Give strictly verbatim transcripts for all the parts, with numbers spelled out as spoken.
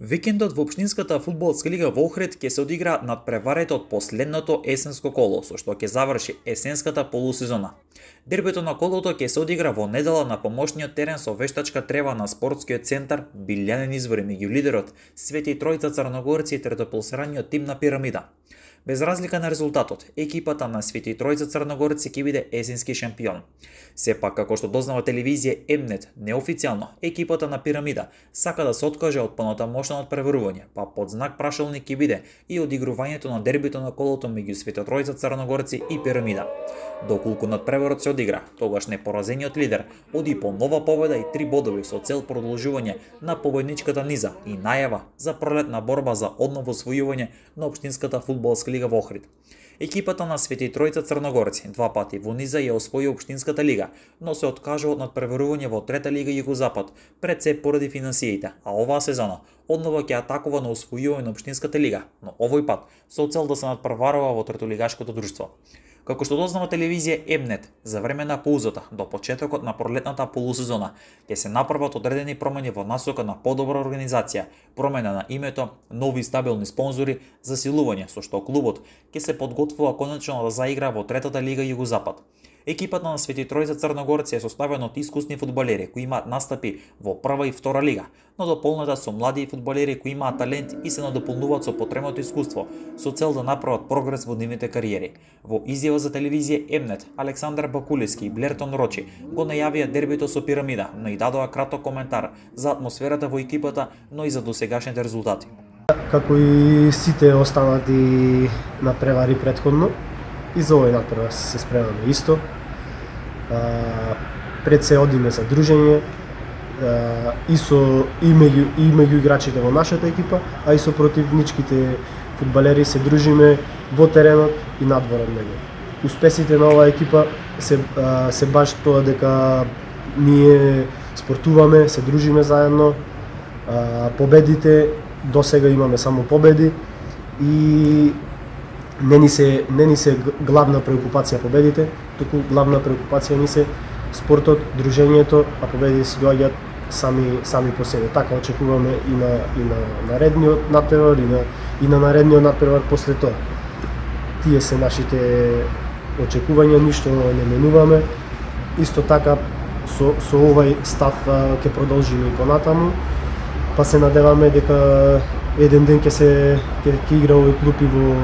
Викендот во општинската фудбалска лига во Охрид ќе се одигра надпреварите од последното есенско коло, со што ќе заврши есенската полусезона. Дербито на колото ќе се одигра во недела на помошниот терен со вештачка трева на спортскиот центар Билјанин извори меѓу лидерот Свети Тројца Црногорци и третопласираниот тим на Пирамида. Без разлика на резултатот, екипата на Свети Тројца Црногорци ќе биде есенски шампион. Сепак, како што дознава телевизија Емнет, неофицијално, екипата на Пирамида сака да се откаже од понатамошно надпреварување, па под знак прашалник ќе биде и одигрувањето на дербито на колото меѓу Свети Тројца Црногорци и Пирамида. Доколку надпреварот се одигра, тогаш непоразениот лидер оди по нова победа и три бодови со цел продолжување на победничката низа и најава за пролетна борба за одново освојување на општинската фудбалска лига во Охрид. Екипата на Свети Тројца Црногорци два пати во низа ја освои општинската лига, но се откажа од надпреварување во трета лига Југозапад, пред се поради финансиите, а оваа сезона одново ќе атакува на освојување на општинската лига, но овој пат со цел да се надпреварува во третолигашкото друштво. Како што дознава телевизија Емнет, за време на паузата до почетокот на пролетната полусезона ќе се направат одредени промени во насока на подобра организација, промена на името, нови стабилни спонзори, засилување со што клубот ќе се подготвува конечно да заигра во третата лига Југозапад. Екипата на Свети Тројца Црногорци е составена од искусни фудбалери кои имаат настапи во прва и втора лига, но дополнета со млади фудбалери кои имаат талент и се надополнуваат со потребното искуство, со цел да направат прогрес во нивните кариери. Во изјава за телевизија Емнет, Александар Бакулевски и Блертон Рочи го најавија дербито со Пирамида, но и дадоа краток коментар за атмосферата во екипата, но и за досегашните резултати. Како и сите останати надпревари претходно, и за овој надпревар се спремаме исто. А, пред се одиме за дружење а, и со и меѓу и меѓу играчите во нашата екипа, а и со противничките фудбалери се дружиме во теренот и надвор од него. Успесите на оваа екипа се а, се баш тоа дека ние спортуваме, се дружиме заедно. А, победите досега имаме само победи и Не ни се не ни се главна преокупација победите, туку главна преокупација ни се спортот, дружењето, а победите се доаѓаат сами сами по себе. Така очекуваме и на и на наредниот надпревар и на и на наредниот надпревар после тоа. Тие се нашите очекувања, ништо не менуваме. Исто така со со овај став ќе продолжиме и понатаму, па се надеваме дека еден ден ќе се ќе, ќе игра овој клуб и во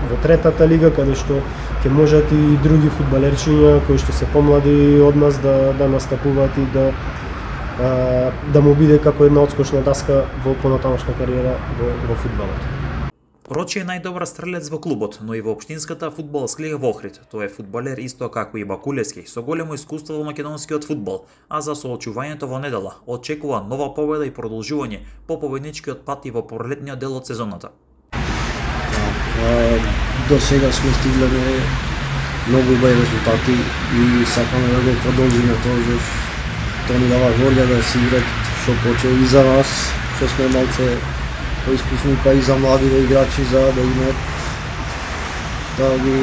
во третата лига, каде што ќе можат и други фудбалерчиња кои што се помлади од нас да да настапуваат и да а, да му биде како една одскочна даска во понатамошна кариера во, во фудбалот. Рочи е најдобар стрелец во клубот, но и во општинската фудбалска лига во Охрид. Тој е фудбалер исто како и Бакулевски, со големо искуство во македонскиот фудбал, а за соочувањето во недела очекува нова победа и продолжување по победничкиот пат и во пролетниот дел од сезоната. До сега сме стигле многу убави резултати и сакаме да го продолжиме тоа, зашто тоа ни дава волја да се играт што поче и за нас, што сме малце поискусни, па и за младите играчи, за да имаат да ги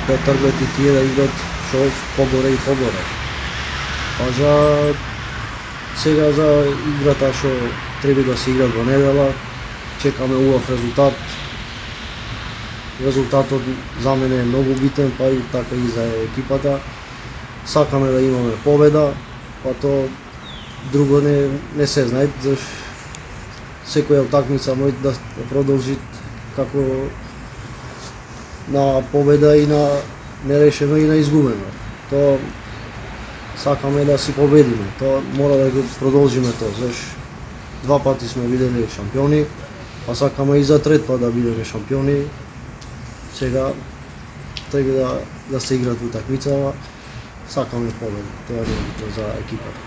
претргат и тие да играт што погоре и погоре. А за сега за играта што треба да се играт во недела, чекаме убав резултат. Резултатот за мене е многу битен, па и така и за екипата. Сакаме да имаме победа, па то друго не, не се знае, зашто секоја утакмица може да продолжи како на победа и на нерешено и на изгубено. То сакаме да си победиме, то мора да го продолжиме тоа, зашто два пати сме биделе шампиони, па сакаме и за трет пат да бидеме шампиони. Сега треба да, да се играт утакмицава, сакаме победа, тоа е за екипата.